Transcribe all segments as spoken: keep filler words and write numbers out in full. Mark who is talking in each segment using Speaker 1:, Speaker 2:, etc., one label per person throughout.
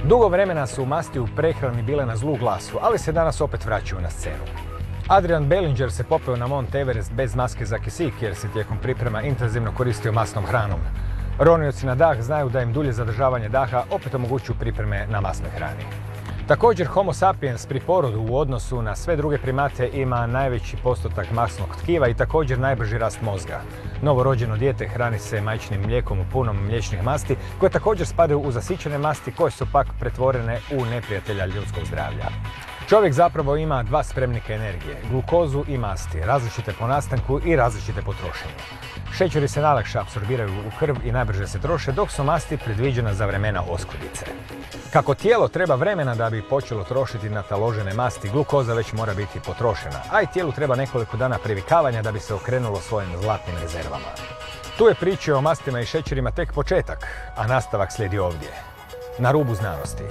Speaker 1: Dugo vremena su masti u prehrani bile na zlu glasu, ali se danas opet vraćaju na scenu. Adrian Bellinger se popeo na Mont Everest bez maske za kisik jer se tijekom priprema intenzivno koristio masnom hranom. Ronioci na dah znaju da im dulje zadržavanje daha opet omogućuju pripreme na masnoj hrani. Također, Homo sapiens pri porodu u odnosu na sve druge primate ima najveći postotak masnog tkiva i također najbrži rast mozga. Novorođeno dijete hrani se majčinim mlijekom u punom mliječnih masti, koje također spadaju u zasićene masti, koje su pak pretvorene u neprijatelja ljudskog zdravlja. Čovjek zapravo ima dva spremnika energije, glukozu i masti, različite po nastanku i različite po trošenju. Šećeri se najlakše apsorbiraju u krv i najbrže se troše, dok su masti predviđena za vremena oskudice. Kako tijelo treba vremena da bi počelo trošiti nataložene masti, glukoza već mora biti potrošena, a i tijelu treba nekoliko dana privikavanja da bi se okrenulo svojim zlatnim rezervama. Tu je priča o mastima i šećerima tek početak, a nastavak slijedi ovdje, na rubu znanosti.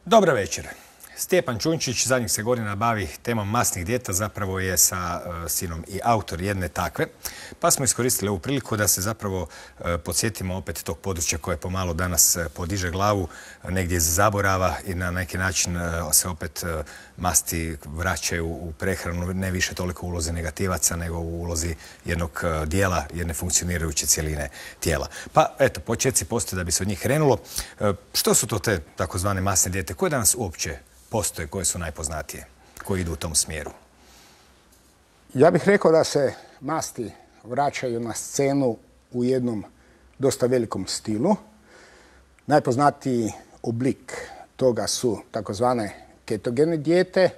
Speaker 1: Dobar večer. Stjepan Čunčić zadnjih se godina bavi temom masnih dijeta, zapravo je sa uh, sinom i autor jedne takve. Pa smo iskoristili ovu priliku da se zapravo uh, podsjetimo opet tog područja koje pomalo danas uh, podiže glavu uh, negdje iz zaborava i na neki način uh, se opet uh, masti vraćaju u prehranu, ne više toliko u ulozi negativaca, nego u ulozi jednog uh, dijela, jedne funkcionirajuće cijeline tijela. Pa eto, početci postoje da bi se od njih krenulo. Uh, što su to te takozvane masne dijete? Koje danas uopće postoje, koje su najpoznatije, koji idu u tom smjeru?
Speaker 2: Ja bih rekao da se masti vraćaju na scenu u jednom dosta velikom stilu. Najpoznatiji oblik toga su takozvane ketogene dijete.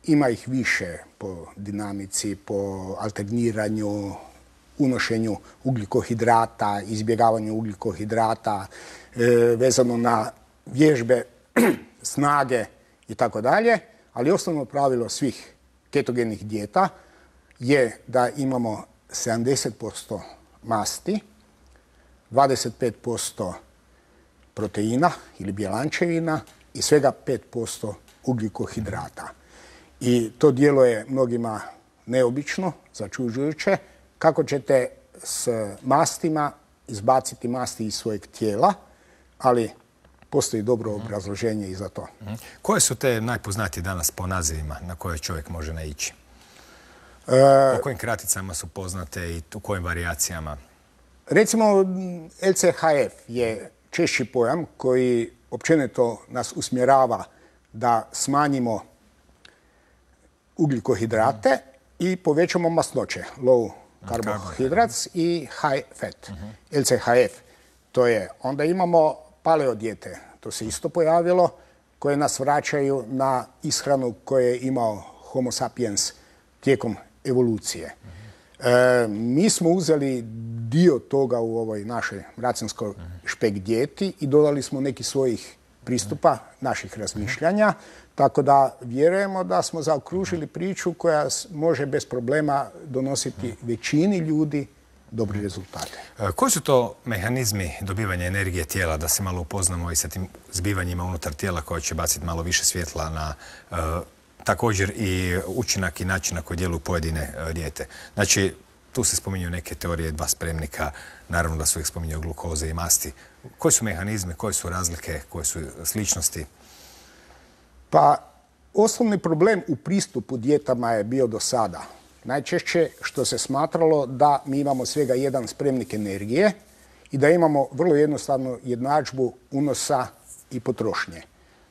Speaker 2: Ima ih više po dinamici, po alterniranju, unošenju ugljikohidrata, izbjegavanju ugljikohidrata, e, vezano na vježbe snage i tako dalje, ali osnovno pravilo svih ketogenih dijeta je da imamo sedamdeset posto masti, dvadeset pet posto proteina ili bjelančevina i svega pet posto ugljikohidrata. I to djeluje mnogima neobično, začuđujuće, kako ćete s mastima izbaciti masti iz svojeg tijela, ali postoji dobro obrazloženje i za to.
Speaker 1: Koje su te najpoznatije danas po nazivima na koje čovjek može naići?
Speaker 2: E,
Speaker 1: po kojim kraticama su poznate i u kojim varijacijama?
Speaker 2: Recimo, L C H F je češći pojam koji općenito nas usmjerava da smanjimo ugljikohidrate mm. i povećamo masnoće, low carbohydrates i high fat, mm -hmm. L C H F. To je, onda imamo paleo dijete, to se isto pojavilo, koje nas vraćaju na ishranu koju je imao Homo sapiens tijekom evolucije. E, mi smo uzeli dio toga u ovoj našoj racinskoj špek dijeti i dodali smo neki svojih pristupa, naših razmišljanja, tako da vjerujemo da smo zaokružili priču koja može bez problema donositi većini ljudi dobri rezultate.
Speaker 1: Koji su to mehanizmi dobivanja energije tijela, da se malo upoznamo i sa tim zbivanjima unutar tijela koje će baciti malo više svjetla na uh, također i učinak i način na koji djeluju pojedine uh, dijete? Znači, tu se spominju neke teorije, dva spremnika, naravno da su ih spominjao glukoze i masti. Koji su mehanizmi, koje su razlike, koje su sličnosti?
Speaker 2: Pa, osnovni problem u pristupu dijetama je bio do sada najčešće što se smatralo da mi imamo svega jedan spremnik energije i da imamo vrlo jednostavnu jednadžbu unosa i potrošnje.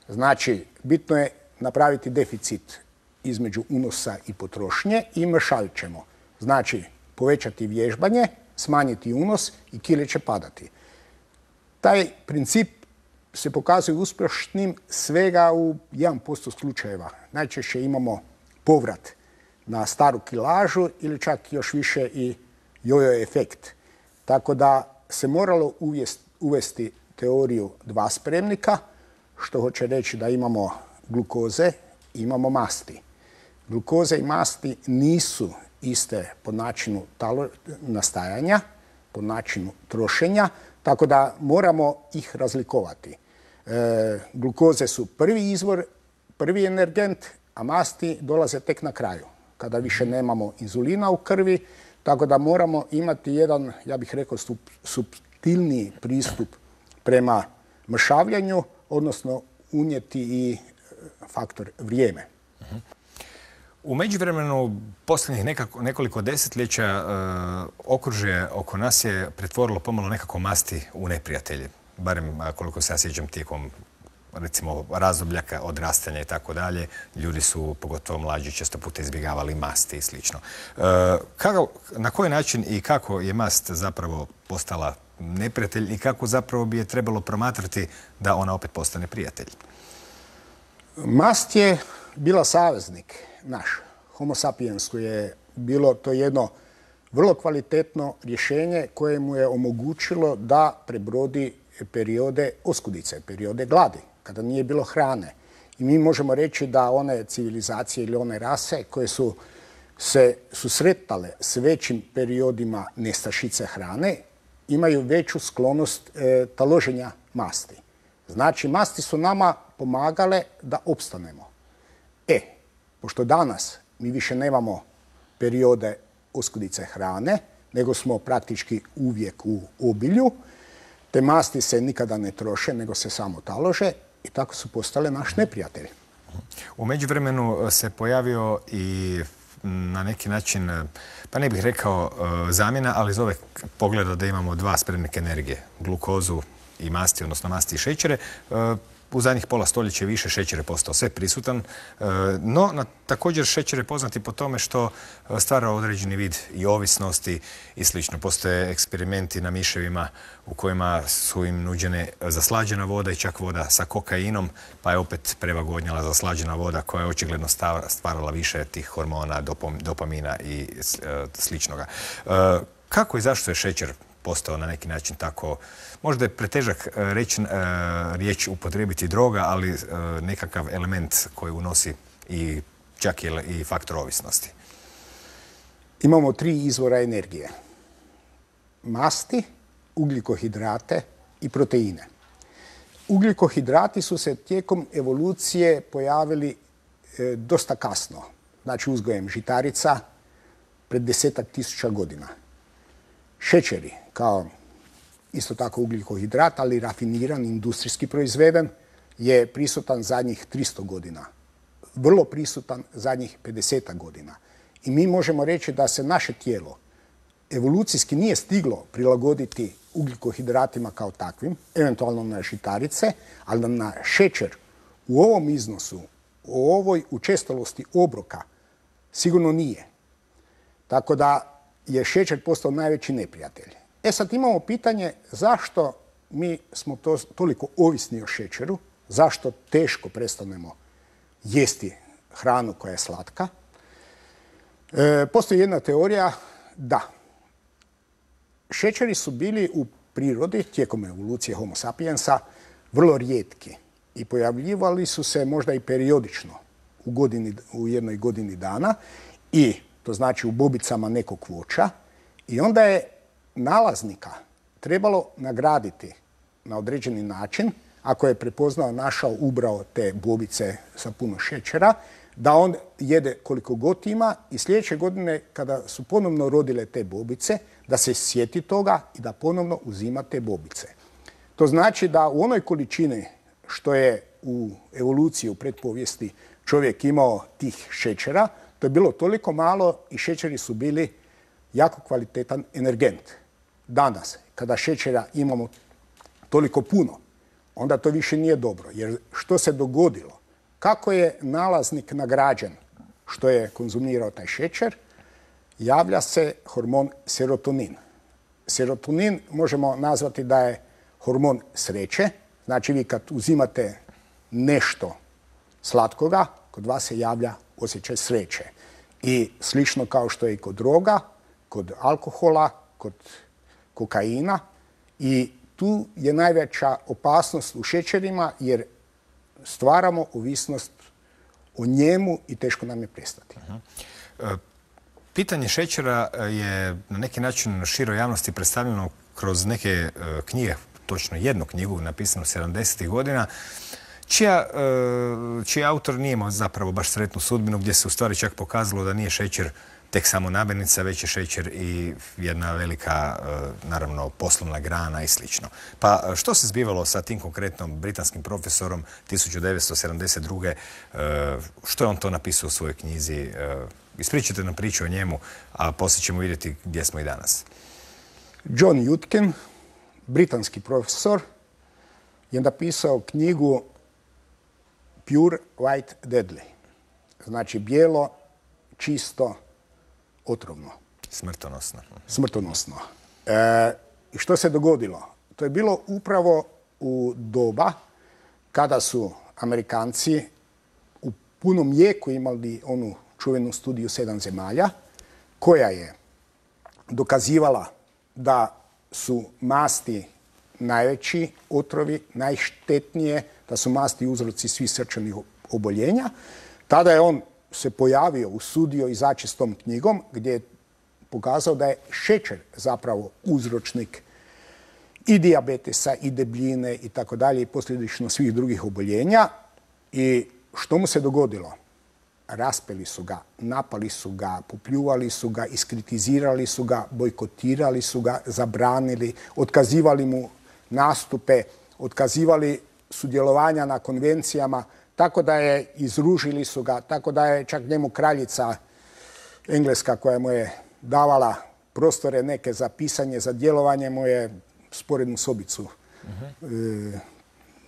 Speaker 2: Znači, bitno je napraviti deficit između unosa i potrošnje i mršavit ćemo. Znači, povećati vježbanje, smanjiti unos i kile će padati. Taj princip se pokazuje uspješnim svega u jedan posto slučajeva. Najčešće imamo povrat na staru kilažu ili čak još više i jojo efekt. Tako da se moralo uvesti teoriju dva spremnika, što hoće reći da imamo glukoze i imamo masti. Glukoze i masti nisu iste po načinu nastajanja, po načinu trošenja, tako da moramo ih razlikovati. E, glukoze su prvi izvor, prvi energent, a masti dolaze tek na kraju, kada više nemamo inzulina u krvi, tako da moramo imati jedan, ja bih rekao, suptilniji pristup prema mršavljanju, odnosno unijeti i faktor vrijeme.
Speaker 1: U međuvremenu, posljednjih nekako, nekoliko desetljeća, e, okružje oko nas je pretvorilo pomalo nekako masti u neprijatelje. Barem koliko se ja sjećam tijekom recimo razdoblja odrastanja i tako dalje, ljudi su, pogotovo mlađi, često puta izbjegavali masti i slično. E, kako, na koji način i kako je mast zapravo postala neprijatelj i kako zapravo bi je trebalo promatrati da ona opet postane prijatelj?
Speaker 2: Mast je bila saveznik naš. Homo sapiens je bilo to jedno vrlo kvalitetno rješenje koje mu je omogućilo da prebrodi periode oskudice, periode gladi, kada nije bilo hrane. I mi možemo reći da one civilizacije ili one rase koje su se susretale s većim periodima nestašice hrane imaju veću sklonost e, taloženja masti. Znači, masti su nama pomagale da opstanemo. E, pošto danas mi više nemamo periode oskudice hrane, nego smo praktički uvijek u obilju, te masti se nikada ne troše, nego se samo talože i tako su postale naš neprijatelj.
Speaker 1: U međuvremenu se pojavio i na neki način, pa ne bih rekao zamjena, ali iz ove pogleda da imamo dva spremnika energije, glukozu i masti, odnosno masti i šećere. U zadnjih pola stoljeća više šećer je postao sve prisutan, no na, također šećer je poznati po tome što stvara određeni vid i ovisnosti i slično. Postoje eksperimenti na miševima u kojima su im nuđene zaslađena voda i čak voda sa kokainom, pa je opet prevagodnjala zaslađena voda koja je očigledno stvarala više tih hormona, dopam, dopamina i sličnoga. Kako i zašto je šećer postao na neki način tako, možda je pretežak reći, riječ upotrijebiti droga, ali nekakav element koji unosi i čak i faktor ovisnosti?
Speaker 2: Imamo tri izvora energije. Masti, ugljikohidrate i proteine. Ugljikohidrati su se tijekom evolucije pojavili dosta kasno, znači uzgojem žitarica pred desetak tisuća godina. Šećeri, kao isto tako ugljikohidrat, ali rafiniran, industrijski proizveden, je prisutan zadnjih tristo godina. Vrlo prisutan zadnjih pedeset godina. I mi možemo reći da se naše tijelo evolucijski nije stiglo prilagoditi ugljikohidratima kao takvim, eventualno na žitarice, ali na šećer u ovom iznosu, u ovoj učestalosti obroka, sigurno nije. Tako da je šećer postao najveći neprijatelj. E sad imamo pitanje zašto mi smo to, toliko ovisni o šećeru, zašto teško prestanemo jesti hranu koja je slatka. E, postoji jedna teorija da šećeri su bili u prirodi tijekom evolucije Homo sapiensa vrlo rijetki i pojavljivali su se možda i periodično u, godini, u jednoj godini dana i to znači u bobicama nekog voća, i onda je nalaznika trebalo nagraditi na određeni način, ako je prepoznao, našao, ubrao te bobice sa puno šećera, da on jede koliko god ima i sljedeće godine kada su ponovno rodile te bobice, da se sjeti toga i da ponovno uzima te bobice. To znači da u onoj količini što je u evoluciji, u pretpovijesti čovjek imao tih šećera, to je bilo toliko malo i šećeri su bili jako kvalitetan energent. Danas, kada šećera imamo toliko puno, onda to više nije dobro. Jer što se dogodilo? Kako je nalaznik nagrađen što je konzumirao taj šećer? Javlja se hormon serotonin. Serotonin možemo nazvati da je hormon sreće. Znači vi kad uzimate nešto slatkoga, kod vas se javlja osjećaj sreće. I slično kao što je i kod droga, kod alkohola, kod kokaina. I tu je najveća opasnost u šećerima jer stvaramo ovisnost o njemu i teško nam je prestati.
Speaker 1: Uh-huh. Pitanje šećera je na neki način široj javnosti predstavljeno kroz neke uh, knjige, točno jednu knjigu napisanu sedamdesetih godina, čija, uh, čiji autor nije imao zapravo baš sretnu sudbinu, gdje se u stvari čak pokazalo da nije šećer tek samo namirnica, već je šećer i jedna velika, uh, naravno, poslovna grana i slično. Pa što se zbivalo sa tim konkretnom britanskim profesorom tisuću devetsto sedamdeset druge. Uh, što je on to napisao u svojoj knjizi? Uh, Ispričajte nam priču o njemu, a poslije ćemo vidjeti gdje smo i danas.
Speaker 2: John Yudkin, britanski profesor, je napisao knjigu Pure White Deadly. Znači bijelo, čisto, otrovno.
Speaker 1: Smrtonosno.
Speaker 2: Smrtonosno. E, I što se dogodilo? To je bilo upravo u doba kada su Amerikanci u punom jeku imali onu čuvenu studiju sedam zemalja, koja je dokazivala da su masti najveći otrovi, najštetnije, da su masti uzroci svih srčanih oboljenja. Tada je on se pojavio, usudio izaći s tom knjigom, gdje je pokazao da je šećer zapravo uzročnik i dijabetesa, i debljine, i tako dalje, i posljedično svih drugih oboljenja. I što mu se dogodilo? Raspeli su ga, napali su ga, popljuvali su ga, iskritizirali su ga, bojkotirali su ga, zabranili, otkazivali mu nastupe, otkazivali sudjelovanja na konvencijama, tako da je izružili su ga, tako da je čak njemu kraljica Engleska, koja mu je davala prostore neke za pisanje, za djelovanje, mu je sporednu sobicu uh-huh. e,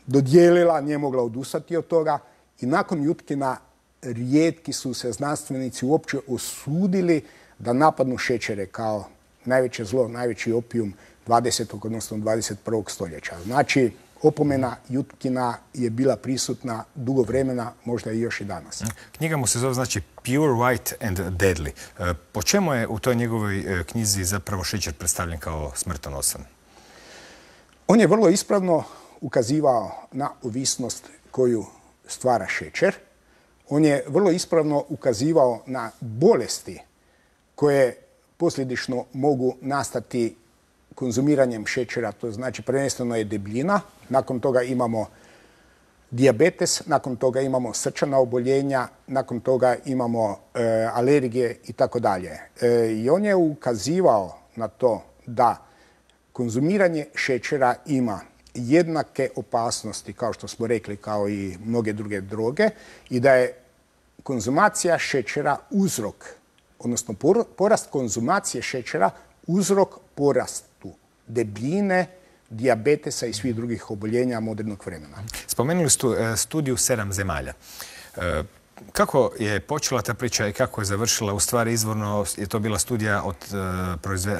Speaker 2: dodijelila, nije mogla odustati od toga. I nakon Yudkina rijetki su se znanstvenici uopće osudili da napadnu šećere kao najveće zlo, najveći opijum dvadesetog odnosno dvadeset prvog stoljeća. Znači, opomena Yudkina je bila prisutna dugo vremena, možda i još i danas.
Speaker 1: Knjiga mu se zove, znači, Pure White and Deadly. Po čemu je u toj njegovoj knjizi zapravo šećer predstavljen kao smrtonosan?
Speaker 2: On je vrlo ispravno ukazivao na ovisnost koju stvara šećer. On je vrlo ispravno ukazivao na bolesti koje posljedično mogu nastati konzumiranjem šećera, to znači prvenstveno je debljina, nakon toga imamo dijabetes, nakon toga imamo srčana oboljenja, nakon toga imamo e, alergije i tako dalje. I on je ukazivao na to da konzumiranje šećera ima jednake opasnosti, kao što smo rekli, kao i mnoge druge droge, i da je konzumacija šećera uzrok, odnosno porast konzumacije šećera uzrok porastu debljine, dijabetesa i svih drugih oboljenja modernog vremena.
Speaker 1: Spomenuli ste studiju sedam zemalja. Kako je počela ta priča i kako je završila? U stvari, izvorno je to bila studija od,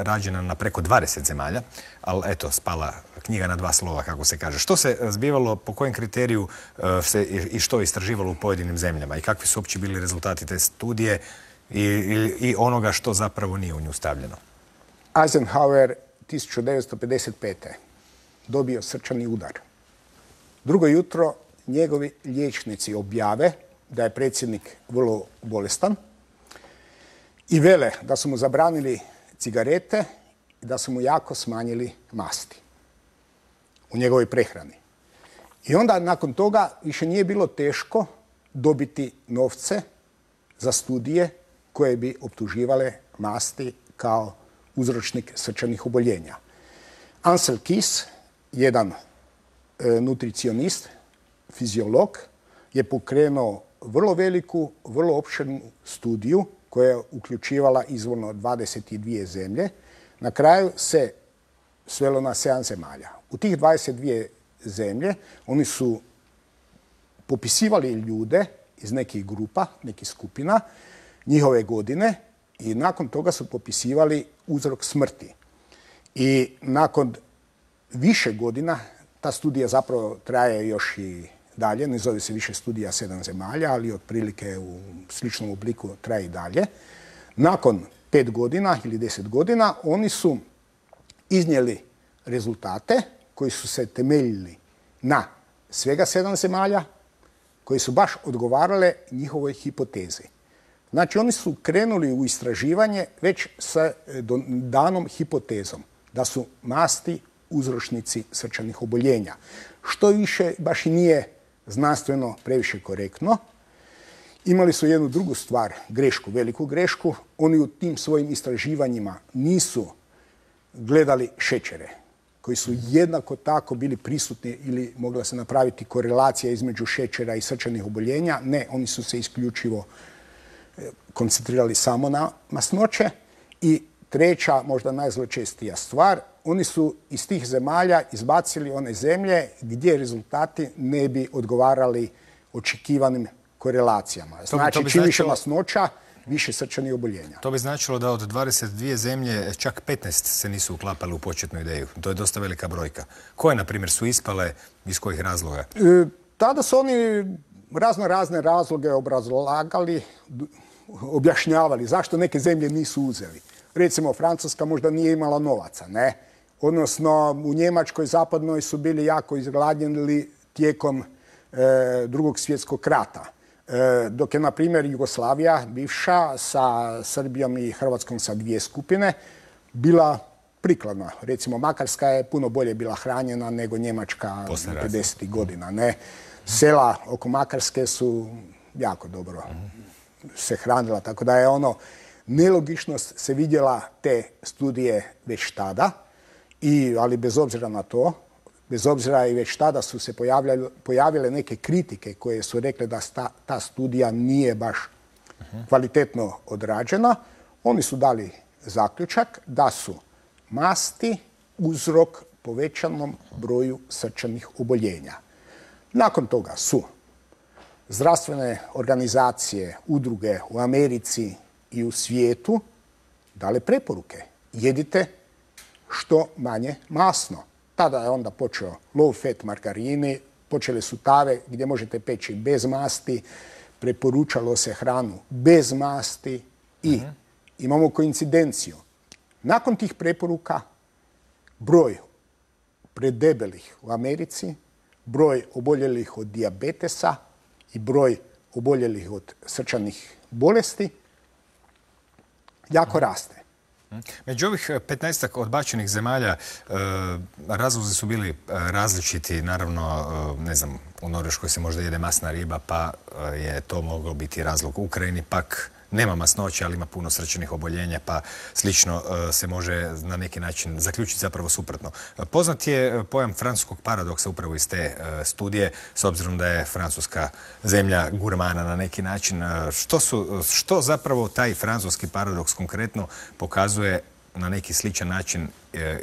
Speaker 1: rađena na preko dvadeset zemalja, ali eto, spala knjiga na dva slova, kako se kaže. Što se zbivalo, po kojem kriteriju se i što je istraživalo u pojedinim zemljama i kakvi su uopće bili rezultati te studije i, i, i onoga što zapravo nije u nju stavljeno?
Speaker 2: Eisenhower tisuću devetsto pedeset pete dobio srčani udar. Drugo jutro njegovi liječnici objave da je predsjednik vrlo bolestan i vele da su mu zabranili cigarete i da su mu jako smanjili masti u njegovoj prehrani. I onda nakon toga više nije bilo teško dobiti novce za studije koje bi optuživale masti kao uzročnik srčanih oboljenja. Ansel Keys, jedan e, nutricionist, fiziolog, je pokrenuo vrlo veliku, vrlo opširnu studiju koja je uključivala izvorno dvadeset dvije zemlje. Na kraju se svelo na sedam zemalja. U tih dvadeset dvije zemlje oni su popisivali ljude iz nekih grupa, nekih skupina, njihove godine i nakon toga su popisivali uzrok smrti. I nakon više godina, ta studija zapravo traje još i dalje, ne zove se više studija sedam zemalja, ali otprilike u sličnom obliku traje i dalje. Nakon pet godina ili deset godina oni su iznijeli rezultate koji su se temeljili na svega sedam zemalja, koje su baš odgovarale njihovoj hipotezi. Znači, oni su krenuli u istraživanje već sa danom hipotezom da su masti uzročnici srčanih oboljenja. Što više baš i nije znanstveno previše korektno. Imali su jednu drugu stvar, grešku, veliku grešku. Oni u tim svojim istraživanjima nisu gledali šećere, koji su jednako tako bili prisutni ili mogla se napraviti korelacija između šećera i srčanih oboljenja. Ne, oni su se isključivo koncentrirali samo na masnoće. I treća, možda najzločestija stvar, oni su iz tih zemalja izbacili one zemlje gdje rezultati ne bi odgovarali očekivanim korelacijama. Znači, čim više masnoća, više srčanih oboljenja.
Speaker 1: To bi značilo da od dvadeset dvije zemlje čak petnaest se nisu uklapali u početnu ideju. To je dosta velika brojka. Koje, na primjer, su ispale, iz kojih razloga?
Speaker 2: E, tada su oni razno razne razloge obrazlagali, objašnjavali zašto neke zemlje nisu uzeli. Recimo, Francuska možda nije imala novaca, ne? Odnosno, u Njemačkoj zapadnoj su bili jako izgladnjeni tijekom e, drugog svjetskog rata. E, dok je, na primjer, Jugoslavija, bivša, sa Srbijom i Hrvatskom sa dvije skupine, bila prikladna. Recimo, Makarska je puno bolje bila hranjena nego Njemačka pedesetih godina, ne? Sela oko Makarske su jako dobro se hranila, tako da je ono, nelogičnost se vidjela te studije već tada, i, ali bez obzira na to, bez obzira i već tada su se pojavljale, pojavile neke kritike koje su rekle da sta, ta studija nije baš kvalitetno odrađena. Oni su dali zaključak da su masti uzrok povećanom broju srčanih oboljenja. Nakon toga su zdravstvene organizacije, udruge u Americi i u svijetu dale preporuke. Jedite što manje masno. Tada je onda počeo low fat margarini, počele su tave gdje možete peći bez masti, preporučalo se hranu bez masti i uh-huh. imamo koincidenciju. Nakon tih preporuka broj predebelih u Americi, broj oboljelih od dijabetesa i broj oboljelih od srčanih bolesti jako raste.
Speaker 1: Među ovih petnaestak odbačenih zemalja razlozi su bili različiti. Naravno, ne znam, u Norveškoj se možda jede masna riba, pa je to moglo biti razlog. U Ukrajini pak nema masnoće, ali ima puno srčanih oboljenja, pa slično se može na neki način zaključiti zapravo suprotno. Poznat je pojam francuskog paradoksa upravo iz te studije, s obzirom da je Francuska zemlja gurmana na neki način. Što, su, što zapravo taj francuski paradoks konkretno pokazuje na neki sličan način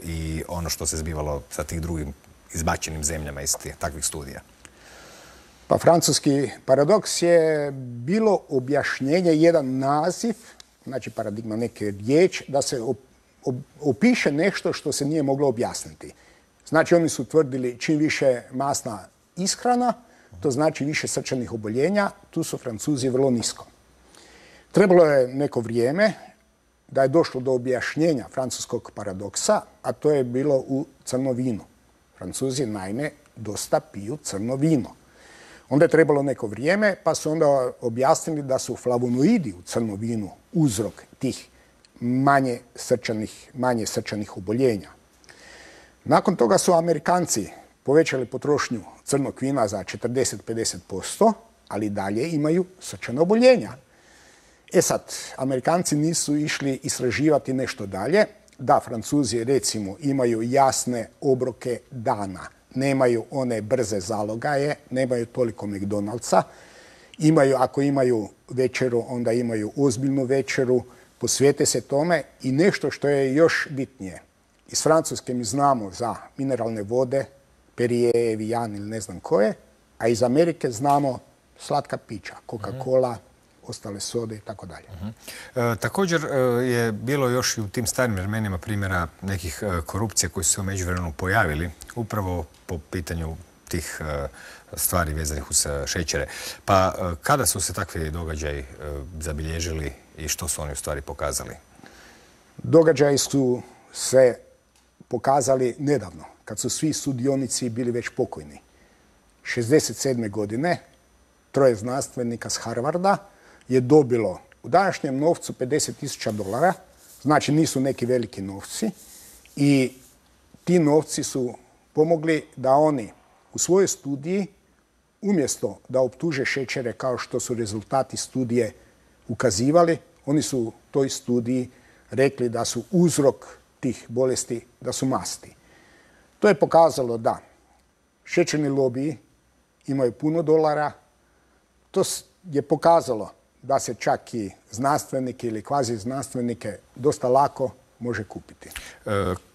Speaker 1: i ono što se zbivalo sa tih drugim izbačenim zemljama iz tih takvih studija?
Speaker 2: Pa francuski paradoks je bilo objašnjenje, jedan naziv, znači paradigma, neke riječ, da se op, op, opiše nešto što se nije moglo objasniti. Znači, oni su tvrdili čim više masna ishrana, to znači više srčanih oboljenja, tu su Francuzi vrlo nisko. Trebalo je neko vrijeme da je došlo do objašnjenja francuskog paradoksa, a to je bilo u crno vinu. Francuzi, naime, dosta piju crno vino. Onda je trebalo neko vrijeme, pa su onda objasnili da su flavonoidi u crnom vinu uzrok tih manje srčanih, manje srčanih oboljenja. Nakon toga su Amerikanci povećali potrošnju crnog vina za četrdeset do pedeset posto, ali dalje imaju srčana oboljenja. E sad, Amerikanci nisu išli istraživati nešto dalje, da Francuzi recimo imaju jasne obroke dana, nemaju one brze zalogaje, nemaju toliko McDonald'sa, imaju, ako imaju večeru, onda imaju ozbiljnu večeru, posvijete se tome i nešto što je još bitnije. Iz Francuske mi znamo za mineralne vode, Perrier, Evian ili ne znam koje, a iz Amerike znamo slatka pića, Coca-Cola, ostale sode i tako dalje.
Speaker 1: Također je bilo još i u tim starim vremenima primjera nekih korupcija koji su se u međuvremenu pojavili upravo po pitanju tih stvari vezanih uz šećere. Pa kada su se takvi događaji zabilježili i što su oni u stvari pokazali?
Speaker 2: Događaji su se pokazali nedavno, kad su svi sudionici bili već pokojni. šezdeset sedme godine troje znanstvenika s Harvarda je dobilo u današnjem novcu pedeset tisuća dolara, znači nisu neki veliki novci, i ti novci su pomogli da oni u svojoj studiji, umjesto da optuže šećere kao što su rezultati studije ukazivali, oni su u toj studiji rekli da su uzrok tih bolesti, da su masti. To je pokazalo da šećerni lobiji imaju puno dolara. To je pokazalo da se čak i znanstvenike ili kvazi znanstvenike dosta lako može kupiti.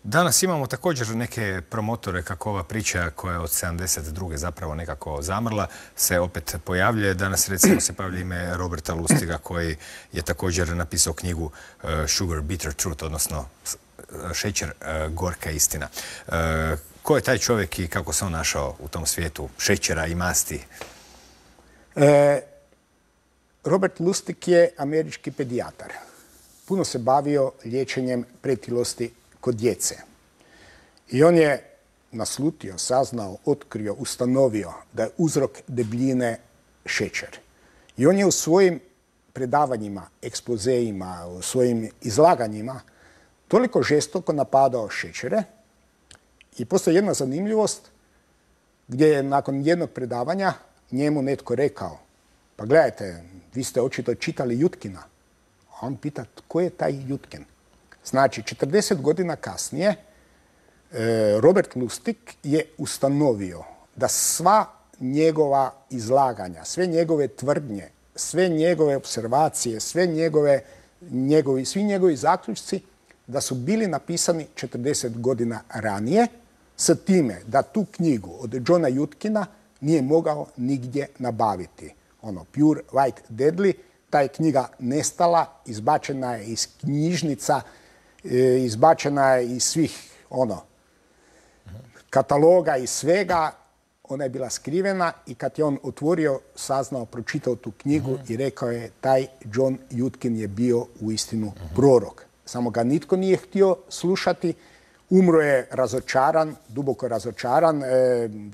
Speaker 1: Danas imamo također neke promotore kako ova priča koja je od sedamdeset druge zapravo nekako zamrla se opet pojavljuje. Danas recimo se pojavlja ime Roberta Lustiga koji je također napisao knjigu Sugar Bitter Truth, odnosno šećer gorka istina. Ko je taj čovjek i kako se on našao u tom svijetu šećera i masti?
Speaker 2: E, Robert Lustig je američki pedijatar. Puno se bavio liječenjem pretilosti kod djece. I on je naslutio, saznao, otkrio, ustanovio da je uzrok debljine šećer. I on je u svojim predavanjima, ekspozejima, u svojim izlaganjima toliko žestoko napadao šećere. I postoji jedna zanimljivost gdje je nakon jednog predavanja njemu netko rekao: pa gledajte, vi ste očito čitali Jutkina. A on pita, tko je taj Jutkin? Znači, četrdeset godina kasnije Robert Lustig je ustanovio da sva njegova izlaganja, sve njegove tvrdnje, sve njegove observacije, sve njegove, njegovi, svi njegovi zaključci da su bili napisani četrdeset godina ranije, s time da tu knjigu od Johna Jutkina nije mogao nigdje nabaviti. Ono, Pure White Deadly, ta je knjiga nestala, izbačena je iz knjižnica, izbačena je iz svih ono, kataloga i svega. Ona je bila skrivena i kad je on otvorio, saznao, pročitao tu knjigu uh-huh. i rekao je taj John Jutkin je bio uistinu uh-huh. prorok. Samo ga nitko nije htio slušati. Umro je razočaran, duboko razočaran, e,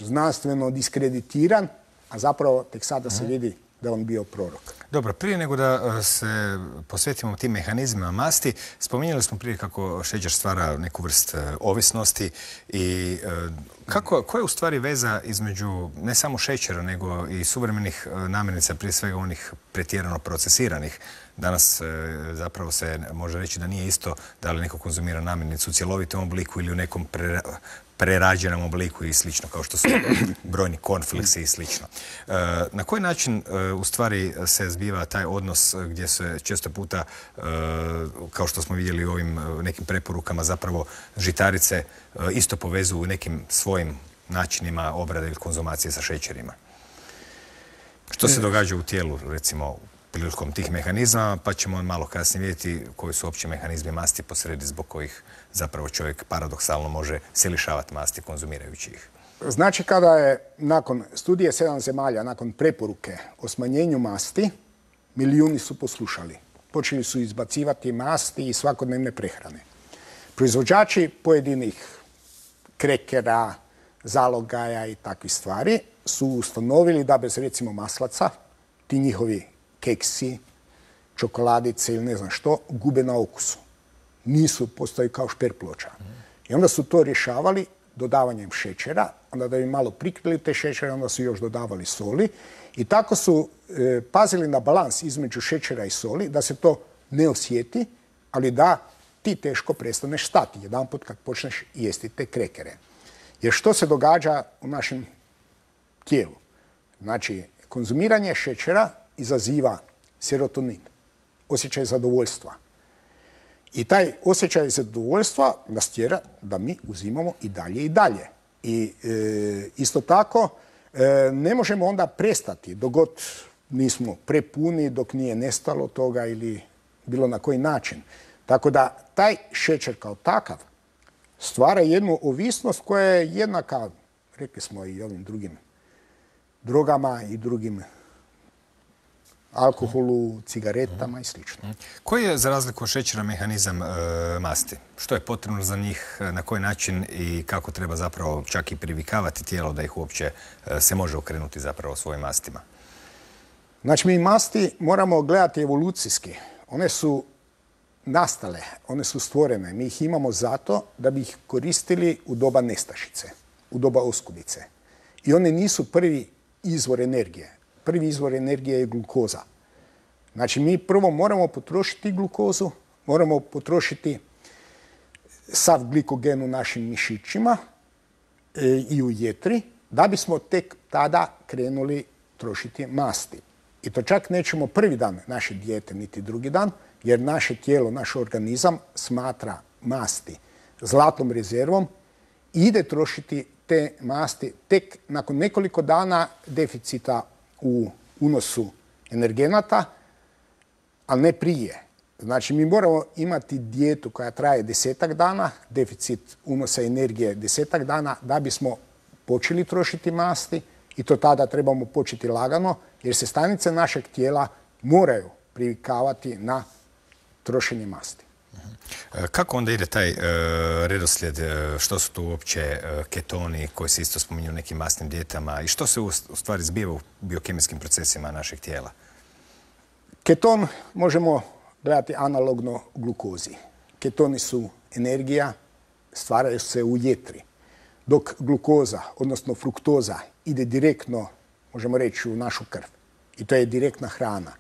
Speaker 2: znanstveno diskreditiran, a zapravo tek sada uh-huh. se vidi da on bio prorok.
Speaker 1: Dobro, prije nego da se posvetimo tim mehanizmima masti, spominjali smo prije kako šećer stvara neku vrst ovisnosti i kako, koja je u stvari veza između ne samo šećera, nego i suvremenih namirnica, prije svega onih pretjerano procesiranih. Danas zapravo se može reći da nije isto da li neko konzumira namirnicu u cjelovitom obliku ili u nekom pre, prerađenom obliku i slično, kao što su brojni cornflakesi i slično. Na koji način u stvari se zbiva taj odnos gdje se često puta, kao što smo vidjeli u ovim nekim preporukama, zapravo žitarice isto povezuju u nekim svojim načinima obrade ili konzumacije sa šećerima? Što se događa u tijelu, recimo, prilikom tih mehanizama, pa ćemo malo kasnije vidjeti koji su opći mehanizmi masti posredi zbog kojih zapravo čovjek paradoksalno može se lišavati masti konzumirajući ih.
Speaker 2: Znači, kada je nakon studije sedam zemalja, nakon preporuke o smanjenju masti, milijuni su poslušali. Počeli su izbacivati masti i svakodnevne prehrane. Proizvođači pojedinih krekera, zalogaja i takvih stvari su ustanovili da bez recimo maslaca ti njihovi keksi, čokoladice ili ne znam što, gube na okusu. Nisu, postoji kao šper ploča. I onda su to rješavali dodavanjem šećera, onda da bi malo prikrili te šećere, onda su još dodavali soli i tako su e, pazili na balans između šećera i soli, da se to ne osjeti, ali da ti teško prestaneš stati jedanput kad počneš jesti te krekere. Jer što se događa u našem tijelu? Znači, konzumiranje šećera izaziva serotonin, osjećaj zadovoljstva. I taj osjećaj zadovoljstva nas tjera da mi uzimamo i dalje i dalje. I e, isto tako e, ne možemo onda prestati dok god nismo prepuni, dok nije nestalo toga ili bilo na koji način. Tako da taj šećer kao takav stvara jednu ovisnost koja je jednaka, rekli smo, i ovim drugim drogama i drugim alkoholu, cigaretama i slično.
Speaker 1: Koji je, za razliku od šećera, mehanizam e, masti? Što je potrebno za njih, na koji način i kako treba zapravo čak i privikavati tijelo da ih uopće e, se može okrenuti zapravo svojim mastima?
Speaker 2: Znači, mi masti moramo gledati evolucijski. One su nastale, one su stvorene. Mi ih imamo zato da bi ih koristili u doba nestašice, u doba oskudice. I one nisu prvi izvor energije. Prvi izvor energije je glukoza. Znači, mi prvo moramo potrošiti glukozu, moramo potrošiti sav glikogen u našim mišićima e, i u jetri, da bismo tek tada krenuli trošiti masti. I to čak nećemo prvi dan naše dijete, niti drugi dan, jer naše tijelo, naš organizam smatra masti zlatnom rezervom i ide trošiti te masti tek nakon nekoliko dana deficita u unosu energenata, ali ne prije. Znači, mi moramo imati dijetu koja traje desetak dana, deficit unosa energije desetak dana, da bismo počeli trošiti masti i to tada trebamo početi lagano, jer se stanice našeg tijela moraju privikavati na trošenje masti.
Speaker 1: Kako onda ide taj uh, redoslijed, uh, što su tu uopće uh, ketoni koji se isto spominju u nekim masnim dijetama i što se u, u stvari zbiva u biokemijskim procesima našeg tijela?
Speaker 2: Keton možemo gledati analogno glukozi. Ketoni su energija, stvaraju se u jetri. Dok glukoza, odnosno fruktoza, ide direktno, možemo reći, u našu krv. I to je direktna hrana.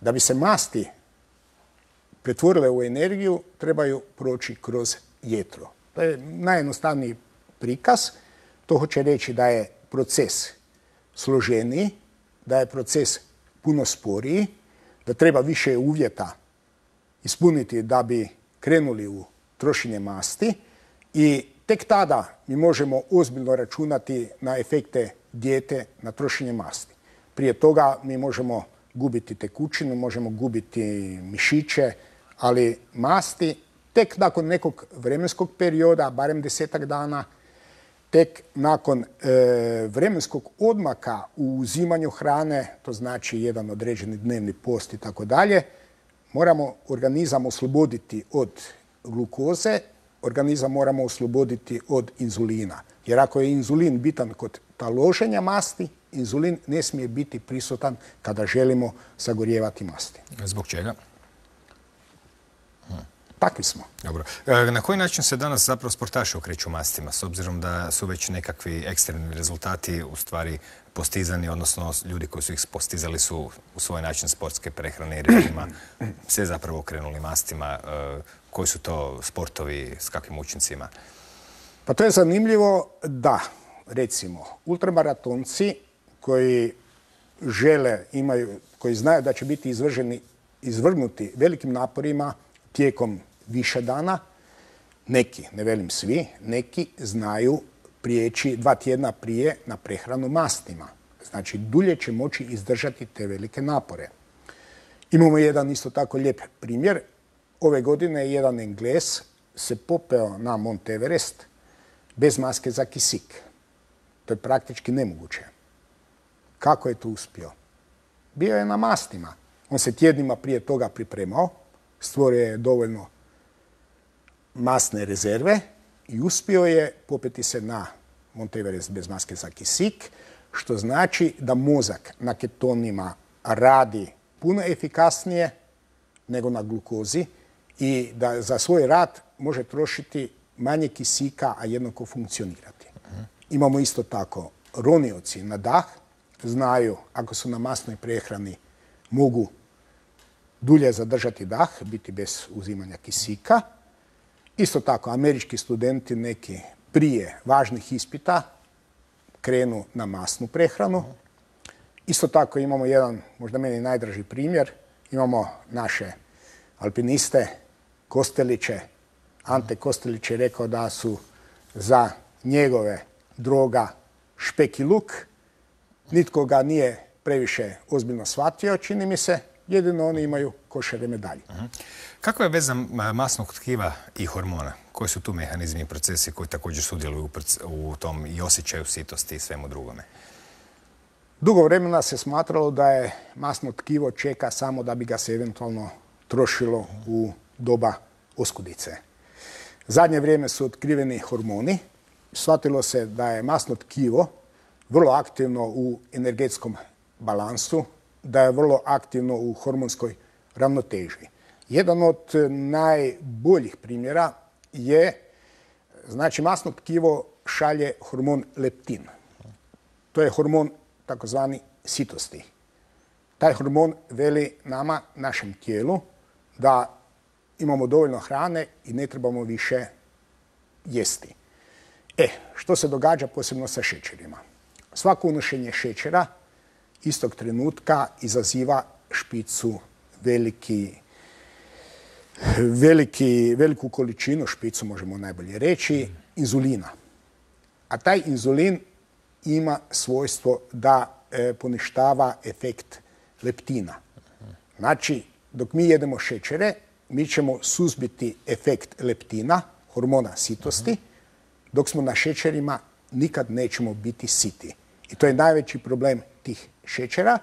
Speaker 2: Da bi se masti pretvorile u energiju, trebaju proći kroz jetro. To je najjednostavniji prikaz. To hoće reći da je proces složeniji, da je proces puno sporiji, da treba više uvjeta ispuniti da bi krenuli u trošenje masti i tek tada mi možemo ozbiljno računati na efekte dijete na trošenje masti. Prije toga mi možemo gubiti tekućinu, možemo gubiti mišiće, ali masti tek nakon nekog vremenskog perioda, barem desetak dana, tek nakon e, vremenskog odmaka u uzimanju hrane, to znači jedan određeni dnevni post i tako dalje, moramo organizam osloboditi od glukoze, organizam moramo osloboditi od inzulina. Jer ako je inzulin bitan kod taloženja masti, inzulin ne smije biti prisutan kada želimo sagorijevati masti.
Speaker 1: Zbog čega?
Speaker 2: Takvi smo.
Speaker 1: Dobro. Na koji način se danas zapravo sportaši okreću mastima, s obzirom da su već nekakvi ekstremni rezultati u stvari postizani, odnosno ljudi koji su ih postizali su u svoj način sportske prehrane i režima se zapravo okrenuli mastima. Koji su to sportovi, s kakvim učincima?
Speaker 2: Pa to je zanimljivo da, recimo, ultramaratonci koji žele, imaju, koji znaju da će biti izvrženi, izvrgnuti velikim naporima tijekom više dana, neki, ne velim svi, neki znaju prijeći dva tjedna prije na prehranu mastima. Znači, dulje će moći izdržati te velike napore. Imamo jedan isto tako lijep primjer. Ove godine jedan Englez se popeo na Mont Everest bez maske za kisik. To je praktički nemoguće. Kako je to uspio? Bio je na mastima. On se tjednima prije toga pripremao, stvorio je dovoljno masne rezerve i uspio je popeti se na Mont Everest bez maske za kisik, što znači da mozak na ketonima radi puno efikasnije nego na glukozi i da za svoj rad može trošiti manje kisika, a jednako funkcionirati. Uh-huh. Imamo isto tako ronioci na dah, znaju ako su na masnoj prehrani mogu dulje zadržati dah, biti bez uzimanja kisika. Isto tako, američki studenti neki prije važnih ispita krenu na masnu prehranu. Isto tako imamo jedan, možda meni najdraži primjer, imamo naše alpiniste, Kosteliće. Ante Kostelić je rekao da su za njegove droga špek i luk. Nitko ga nije previše ozbiljno shvatio, čini mi se. Jedino oni imaju košare medalje. Uh-huh.
Speaker 1: Kakva je veza masnog tkiva i hormona? Koji su tu mehanizmi i procesi koji također sudjeluju u tom i osjećaju sitosti i svemu drugome?
Speaker 2: Dugo vremena se smatralo da je masno tkivo čeka samo da bi ga se eventualno trošilo u doba oskudice. Zadnje vrijeme su otkriveni hormoni. Shvatilo se da je masno tkivo vrlo aktivno u energetskom balansu da je vrlo aktivno u hormonskoj ravnoteži. Jedan od najboljih primjera je, znači, masno tkivo šalje hormon leptin. To je hormon takozvani sitosti. Taj hormon veli nama, našem tijelu, da imamo dovoljno hrane i ne trebamo više jesti. E, što se događa posebno sa šećerima? Svako unošenje šećera istog trenutka izaziva špicu, veliki, veliki, veliku količinu, špicu možemo najbolje reći, inzulina. A taj inzulin ima svojstvo da e, poništava efekt leptina. Znači, dok mi jedemo šećere, mi ćemo suzbiti efekt leptina, hormona sitosti, dok smo na šećerima nikad nećemo biti siti. I to je najveći problem tih šećera,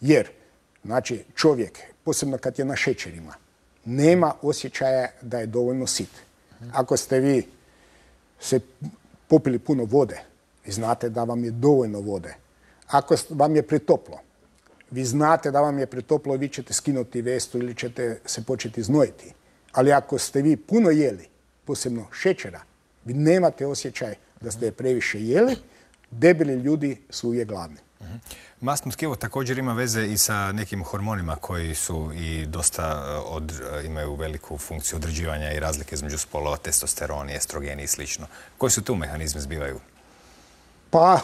Speaker 2: jer, znači, čovjek, posebno kad je na šećerima, nema osjećaja da je dovoljno sit. Ako ste vi se popili puno vode, vi znate da vam je dovoljno vode. Ako vam je pretoplo, vi znate da vam je pretoplo, vi ćete skinuti vestu ili ćete se početi znojiti. Ali ako ste vi puno jeli, posebno šećera, vi nemate osjećaj da ste previše jeli, debeli ljudi su uvijek gladni.
Speaker 1: Masno tkivo također ima veze i sa nekim hormonima koji su i dosta od, imaju veliku funkciju određivanja i razlike između spolova, testosteroni, estrogeni i sl. Koji su tu mehanizmi zbivaju?
Speaker 2: Pa,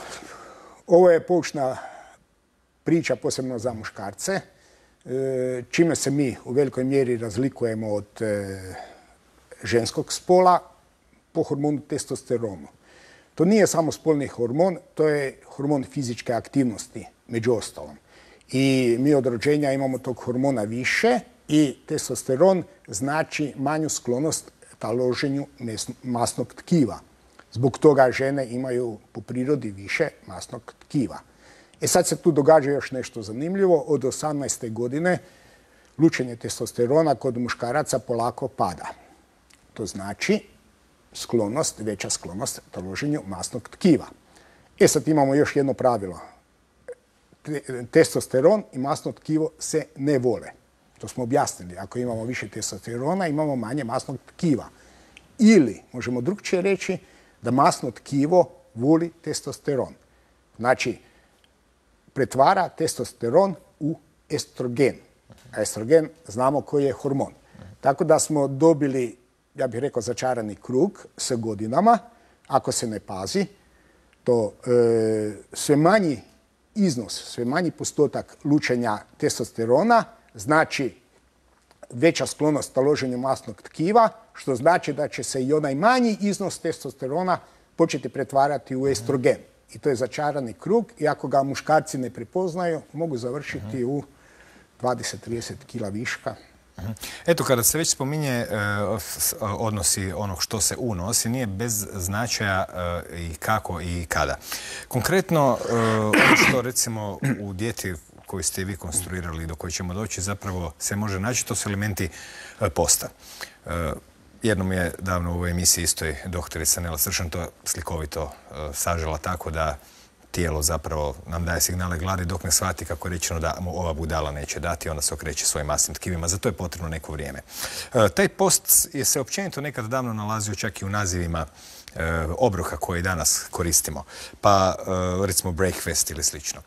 Speaker 2: ovo je poučna priča posebno za muškarce, čime se mi u velikoj mjeri razlikujemo od ženskog spola po hormonu testosteronu. To nije samo spolni hormon, to je hormon fizičke aktivnosti, među ostalom. I mi od rođenja imamo tog hormona više i testosteron znači manju sklonost taloženju masnog tkiva. Zbog toga žene imaju po prirodi više masnog tkiva. E sad se tu događa još nešto zanimljivo. Od osamnaeste godine lučenje testosterona kod muškaraca polako pada. To znači sklonost, veća sklonost taloženju masnog tkiva. E sad imamo još jedno pravilo. Testosteron i masno tkivo se ne vole. To smo objasnili. Ako imamo više testosterona, imamo manje masnog tkiva. Ili, možemo drugčije reći, da masno tkivo voli testosteron. Znači, pretvara testosteron u estrogen. A estrogen znamo koji je hormon. Tako da smo dobili, ja bih rekao, začarani krug s godinama. Ako se ne pazi, to e, sve manji iznos, sve manji postotak lučenja testosterona znači veća sklonost taloženju masnog tkiva, što znači da će se i onaj manji iznos testosterona početi pretvarati u estrogen. I to je začarani krug i ako ga muškarci ne prepoznaju, mogu završiti u dvadeset do trideset kila viška.
Speaker 1: Eto, kada se već spominje odnosi onog što se unosi, nije bez značaja i kako i kada. Konkretno, ono što recimo u dijeti koju ste vi konstruirali i do koje ćemo doći zapravo se može naći, to su elementi posta. Jednom je davno u ovoj emisiji istoj doktorica Nela Sršan to slikovito sažela tako da tijelo zapravo nam daje signale gladi dok ne shvati kako je rečeno da mu ova budala neće dati, onda se okreće svojim masnim tkivima. Za to je potrebno neko vrijeme. Taj post je se općenito nekad davno nalazio čak i u nazivima obroka koje danas koristimo, pa recimo breakfast ili slično.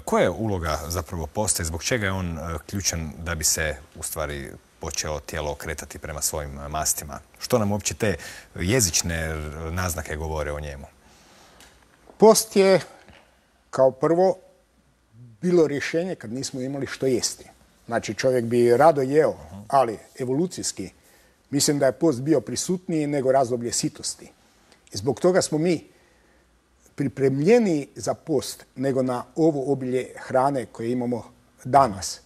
Speaker 1: Koja je uloga zapravo posta i zbog čega je on ključan da bi se u stvari počelo tijelo okretati prema svojim mastima? Što nam uopće te jezične naznake govore o njemu?
Speaker 2: Post je kao prvo bilo rješenje kad nismo imali što jesti. Znači, čovjek bi rado jeo, ali evolucijski mislim da je post bio prisutniji nego razdoblje sitosti. I zbog toga smo mi pripremljeniji za post nego na ovo obilje hrane koje imamo danas.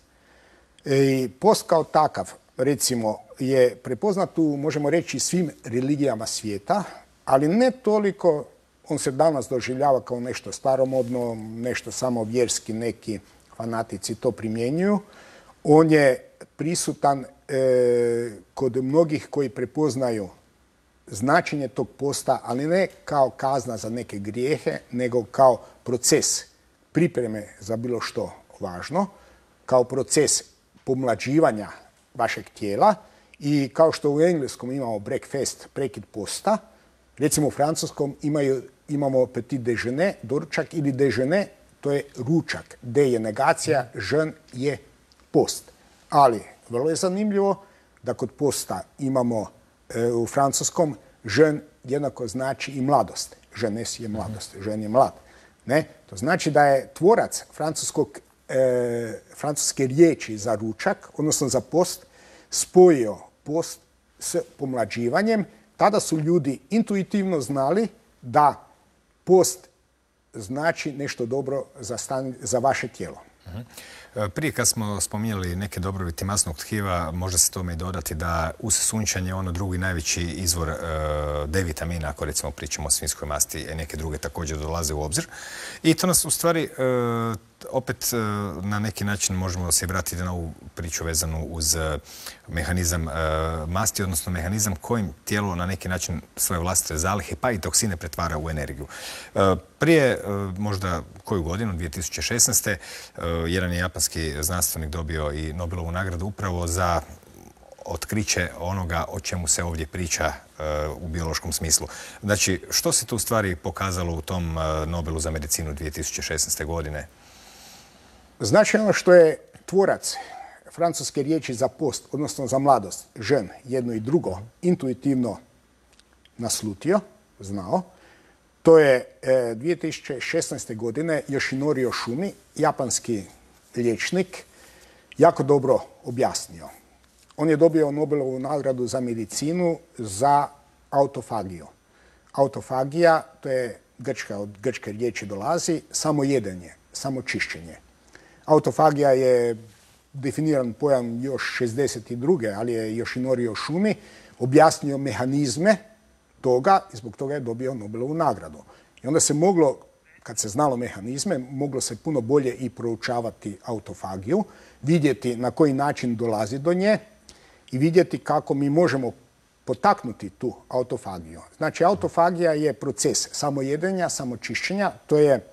Speaker 2: I post kao takav, recimo, je prepoznat u, možemo reći, svim religijama svijeta, ali ne toliko. On se danas doživljava kao nešto staromodno, nešto samo vjerski, neki fanatici to primjenjuju. On je prisutan e, kod mnogih koji prepoznaju značenje tog posta, ali ne kao kazna za neke grijehe, nego kao proces pripreme za bilo što važno. kao proces pomlađivanja vašeg tijela i kao što u engleskom imamo breakfast, prekid posta, recimo u francuskom imaju, imamo petit déjeuner, doručak, ili déjeuner, to je ručak. D je negacija, jeûn je post. Ali vrlo je zanimljivo da kod posta imamo e, u francuskom jeûn jednako znači i mladost. Jeunesse je mladost, jeune je mlad. Ne? To znači da je tvorac francuskog, e, francuske riječi za ručak, odnosno za post, spojio post s pomlađivanjem. Tada su ljudi intuitivno znali da post znači nešto dobro za, stan, za vaše tijelo.
Speaker 1: Uh-huh. Prije kad smo spominjali neke dobrobiti masnog tkiva, može se tome i dodati da uz sunčanje ono drugi najveći izvor e, D vitamina, ako recimo pričamo o svinjskoj masti, i neke druge također dolaze u obzir. I to nas u stvari e, opet e, na neki način možemo se vratiti na ovu priču vezanu uz e, mehanizam e, masti, odnosno mehanizam kojim tijelo na neki način svoje vlastite zalihe pa i toksine pretvara u energiju. E, prije e, možda koju godinu, dvije tisuće šesnaeste. E, jedan je japanski znanstvenik dobio i Nobelovu nagradu upravo za otkriće onoga o čemu se ovdje priča e, u biološkom smislu. Znači, što se tu u stvari pokazalo u tom e, Nobelu za medicinu dvije tisuće šesnaeste. godine?
Speaker 2: Znači ono što je tvorac francuske riječi za post, odnosno za mladost, jeûn, jedno i drugo, intuitivno naslutio, znao, to je e, dvije tisuće šesnaeste. godine Yoshinori Oshumi, japanski liječnik, jako dobro objasnio. On je dobio Nobelovu nagradu za medicinu za autofagiju. Autofagija, to je grčka, od grčke riječi dolazi, samo jedenje, samo čišćenje. Autofagija je definiran pojam još šezdeset druge. ali je Yoshinori Oshumi objasnio mehanizme toga i zbog toga je dobio Nobelovu nagradu. I onda se moglo, kad se znalo mehanizme, moglo se puno bolje i proučavati autofagiju, vidjeti na koji način dolazi do nje i vidjeti kako mi možemo potaknuti tu autofagiju. Znači, autofagija je proces samojedenja, samočišćenja. To je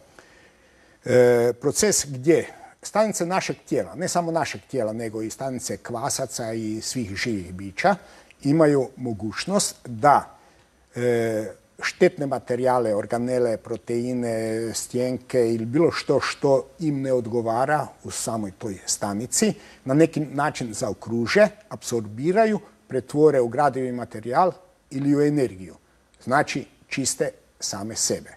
Speaker 2: e, proces gdje stanice našeg tijela, ne samo našeg tijela, nego i stanice kvasaca i svih živih bića, imaju mogućnost da e, štetne materijale, organele, proteine, stjenke ili bilo što što im ne odgovara u samoj toj stanici, na neki način zaokruže, apsorbiraju, pretvore u gradivi materijal ili u energiju. Znači, čiste same sebe.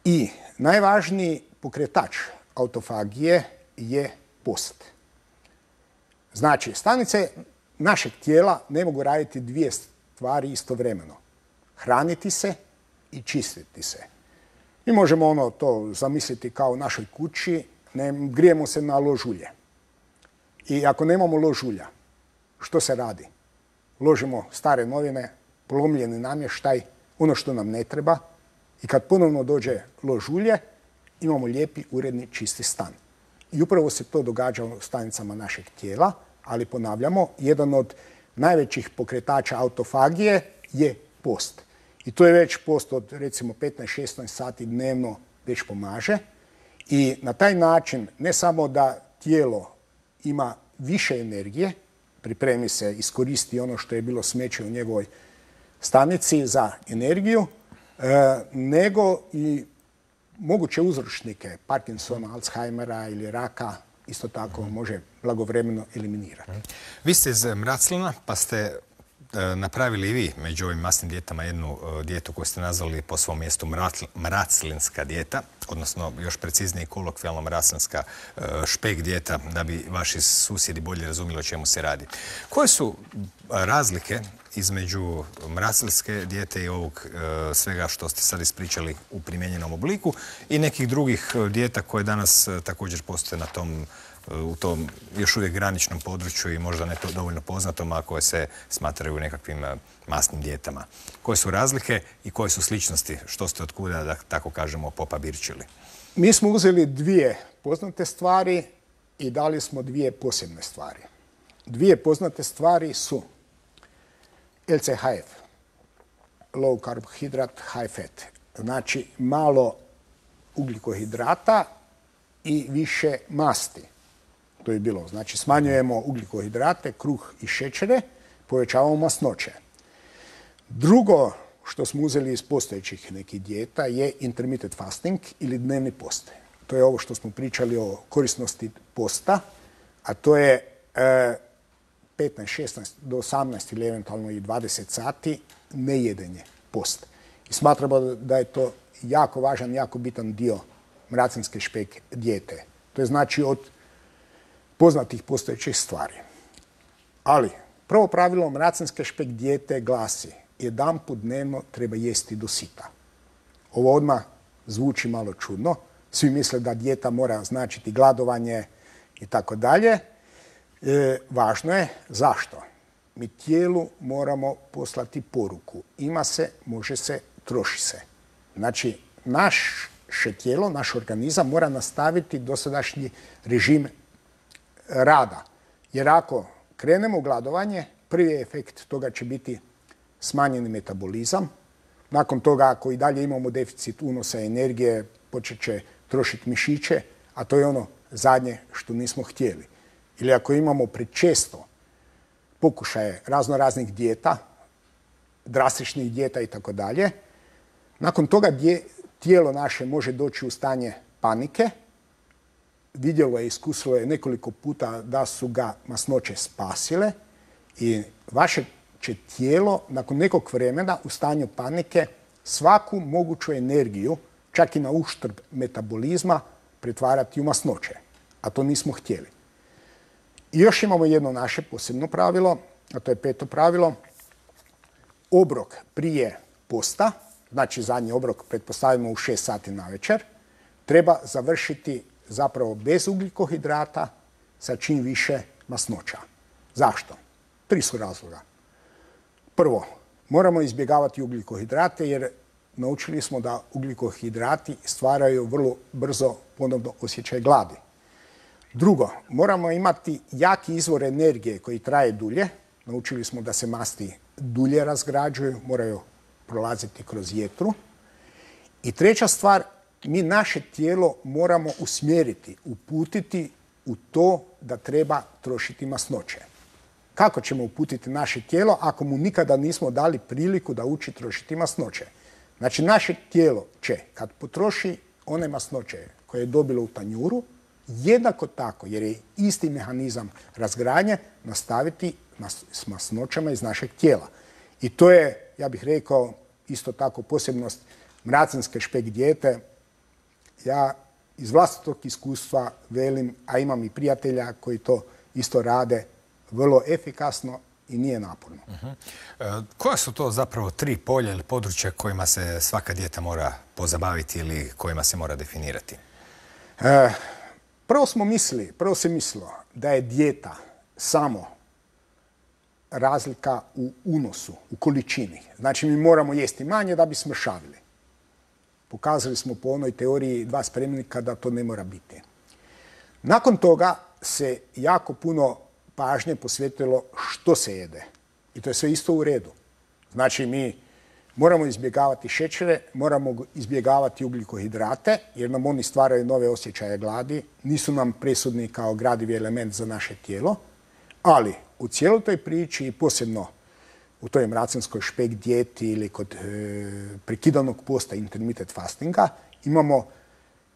Speaker 2: I najvažniji pokretač autofagije je post. Znači, stanice našeg tijela ne mogu raditi dvije stvari istovremeno. Hraniti se i čistiti se. Mi možemo ono to zamisliti kao u našoj kući, ne, grijemo se na lož ulje. I ako nemamo lož ulja, što se radi? Ložimo stare novine, polomljeni namještaj, ono što nam ne treba, i kad ponovno dođe lož ulje, imamo lijepi, uredni, čisti stan. I upravo se to događa u stanicama našeg tijela, ali ponavljamo, jedan od najvećih pokretača autofagije je post. I to je već post od recimo petnaest šesnaest sati dnevno već pomaže. I na taj način ne samo da tijelo ima više energije, pripremi se, iskoristi ono što je bilo smeće u njegovoj stanici za energiju, e, nego i moguće uzročnike Parkinsona, Alzheimera ili raka isto tako može blagovremeno eliminirati.
Speaker 1: Vi ste iz Mraclina, pa ste napravili i vi među ovim masnim dijetama jednu dijetu koju ste nazvali po svom mjestu mraclinska dijeta, odnosno još preciznije kolokvijalno mraclinska špek dijeta, da bi vaši susjedi bolje razumjeli o čemu se radi. Koje su razlike između mraclinske dijete i ovog svega što ste sad ispričali u primijenjenom obliku i nekih drugih dijeta koje danas također postoje na tom u tom još uvijek graničnom području i možda ne to dovoljno poznatom, a koje se smatraju nekakvim masnim dijetama? Koje su razlike i koje su sličnosti? Što ste otkuda, da tako kažemo, popabirčili?
Speaker 2: Mi smo uzeli dvije poznate stvari i dali smo dvije posebne stvari. Dvije poznate stvari su L C H F, low carbohydrate, high fat. Znači malo ugljikohidrata i više masti. To je bilo. Znači, smanjujemo ugljikohidrate, kruh i šećere, povećavamo masnoće. Drugo što smo uzeli iz postojećih nekih dijeta je intermittent fasting ili dnevni post. To je ovo što smo pričali o korisnosti posta, a to je e, petnaest, šesnaest do osamnaest ili eventualno i dvadeset sati nejedenje, post. I smatramo da je to jako važan, jako bitan dio mracinske špek dijete. To je znači od poznatih postojećih stvari. Ali prvo pravilo mracinske špek dijete glasi: jedanput dnevno treba jesti do sita. Ovo odmah zvuči malo čudno. Svi misle da dijeta mora značiti gladovanje i tako dalje. Važno je zašto. Mi tijelu moramo poslati poruku. Ima se, može se, troši se. Znači, naše tijelo, naš organizam mora nastaviti dosadašnji režim rada. Jer ako krenemo u gladovanje, prvi efekt toga će biti smanjeni metabolizam. Nakon toga, ako i dalje imamo deficit unosa energije, počet će trošiti mišiće, a to je ono zadnje što nismo htjeli. Ili ako imamo prečesto pokušaje razno raznih dijeta, drastičnih dijeta i tako dalje, nakon toga tijelo naše može doći u stanje panike. Vidjelo je, iskusilo je nekoliko puta da su ga masnoće spasile i vaše će tijelo nakon nekog vremena u stanju panike svaku moguću energiju, čak i na uštrb metabolizma, pretvarati u masnoće. A to nismo htjeli. I još imamo jedno naše posebno pravilo, a to je peto pravilo. Obrok prije posta, znači zadnji obrok pretpostavimo u šest sati na večer, treba završiti zapravo bez ugljikohidrata sa čim više masnoća. Zašto? Tri su razloga. Prvo, moramo izbjegavati ugljikohidrate jer naučili smo da ugljikohidrati stvaraju vrlo brzo ponovno osjećaj gladi. Drugo, moramo imati jaki izvor energije koji traje dulje. Naučili smo da se masti dulje razgrađuju, moraju prolaziti kroz jetru. I treća stvar, mi naše tijelo moramo usmjeriti, uputiti u to da treba trošiti masnoće. Kako ćemo uputiti naše tijelo ako mu nikada nismo dali priliku da uči trošiti masnoće? Znači, naše tijelo će, kad potroši one masnoće koje je dobilo u tanjuru, jednako tako, jer je isti mehanizam razgradnje, nastaviti s masnoćama iz našeg tijela. I to je, ja bih rekao, isto tako posebnost mracinske špek dijete. Ja iz vlastitog iskustva velim, a imam i prijatelja koji to isto rade, vrlo efikasno i nije naporno.
Speaker 1: Uh-huh. E, koja su to zapravo tri polja ili područja kojima se svaka dijeta mora pozabaviti ili kojima se mora definirati?
Speaker 2: E, prvo smo mislili, prvo se mislilo da je dijeta samo razlika u unosu, u količini. Znači, mi moramo jesti manje da bi smršavili. Pokazali smo po onoj teoriji dva spremnika da to ne mora biti. Nakon toga se jako puno pažnje posvetilo što se jede. I to je sve isto u redu. Znači, mi moramo izbjegavati šećere, moramo izbjegavati ugljikohidrate, jer nam oni stvaraju nove osjećaje gladi, nisu nam presudni kao gradivi element za naše tijelo, ali u cijeloj toj priči i posebno u toj mracinskoj špek dijeti ili kod e, prekidanog posta intermittent fastinga imamo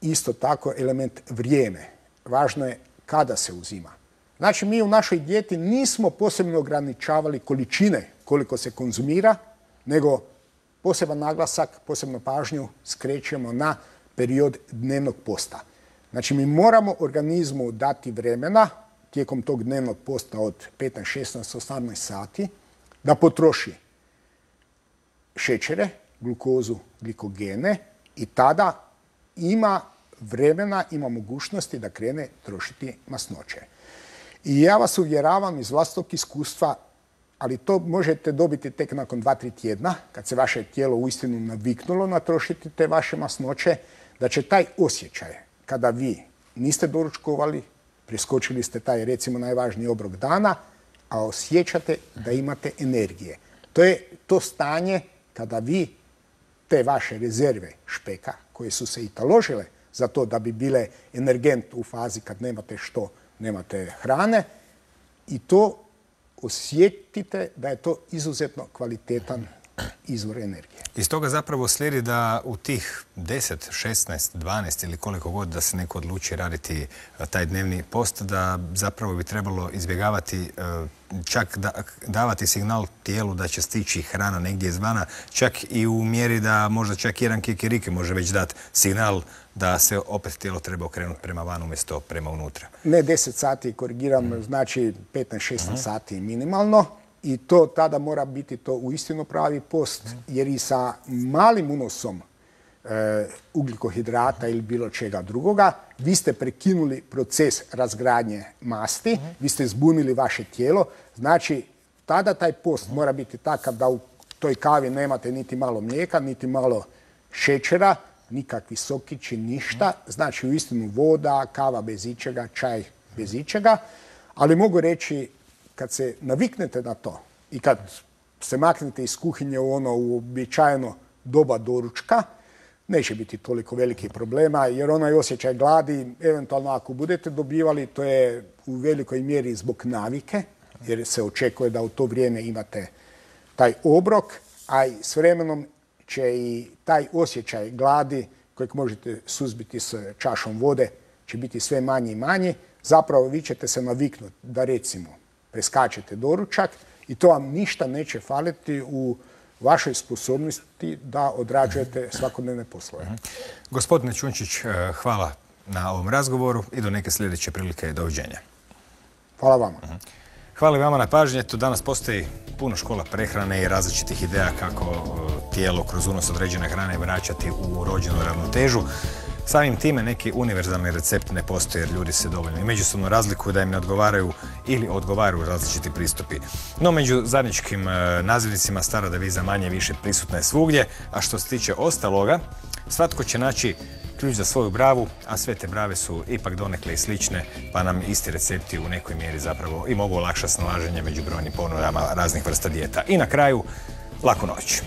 Speaker 2: isto tako element vrijeme. Važno je kada se uzima. Znači, mi u našoj dijeti nismo posebno ograničavali količine koliko se konzumira, nego poseban naglasak, posebnu pažnju skrećemo na period dnevnog posta. Znači, mi moramo organizmu dati vremena tijekom tog dnevnog posta od petnaest, šesnaest, osamnaest sati da potroši šećere, glukozu, glikogene i tada ima vremena, ima mogućnosti da krene trošiti masnoće. I ja vas uvjeravam iz vlastitog iskustva, ali to možete dobiti tek nakon dva, tri tjedna, kad se vaše tijelo uistinu naviknulo na trošiti te vaše masnoće, da će taj osjećaj, kada vi niste doručkovali, preskočili ste taj, recimo, najvažniji obrok dana, a osjećate da imate energije. To je to stanje kada vi te vaše rezerve špeka, koje su se i taložile za to da bi bile energent u fazi kad nemate što nemate hrane i to osjetite da je to izuzetno kvalitetan izvor energije.
Speaker 1: Iz toga zapravo slijedi da u tih deset, šesnaest, dvanaest ili koliko god da se neko odluči raditi taj dnevni post, da zapravo bi trebalo izbjegavati, čak da, davati signal tijelu da će stići hrana negdje izvana, čak i u mjeri da možda čak jedan kikiriki može već dati signal da se opet tijelo treba okrenuti prema van umjesto prema unutra.
Speaker 2: Ne deset sati, korigiram, mm. znači petnaest šesnaest mm. sati minimalno. I to tada mora biti to uistinu pravi post, jer i sa malim unosom e, ugljikohidrata ili bilo čega drugoga, vi ste prekinuli proces razgradnje masti, mm. vi ste zbunili vaše tijelo. Znači, tada taj post mm. mora biti takav da u toj kavi nemate niti malo mlijeka, niti malo šećera, nikakvi sokići, ništa. Znači, uistinu voda, kava bez ičega, čaj bez ičega. Ali mogu reći, kad se naviknete na to i kad se maknete iz kuhinje u ono uobičajeno doba doručka, neće biti toliko velikih problema, jer onaj osjećaj gladi, eventualno ako budete dobivali, to je u velikoj mjeri zbog navike, jer se očekuje da u to vrijeme imate taj obrok, a i s vremenom će i taj osjećaj gladi, kojeg možete suzbiti s čašom vode, će biti sve manji i manji. Zapravo vi ćete se naviknuti da recimo preskačete doručak i to vam ništa neće faliti u vašoj sposobnosti da odrađujete svakodnevne poslove.
Speaker 1: Gospodine Čunčić, hvala na ovom razgovoru i do neke sljedeće prilike. Doviđenja.
Speaker 2: Hvala vama.
Speaker 1: Hvala i vama na pažnje. Tu danas postoji puno škola prehrane i različitih ideja kako tijelo kroz unos određene hrane vraćati u rođenu ravnotežu. Samim time neki univerzalni recept ne postoji jer ljudi se dovoljno i međusobno razlikuju da im ne odgovaraju ili odgovaraju različiti pristupi. No među zajedničkim nazivnicima stara deviza manje više prisutna je svugdje, a što se tiče ostaloga, svatko će naći ključ za svoju bravu, a sve te brave su ipak donekle i slične, pa nam isti recepti u nekoj mjeri zapravo i mogu olakšati snalaženje među brojnim ponudama raznih vrsta dijeta. I na kraju, laku noć.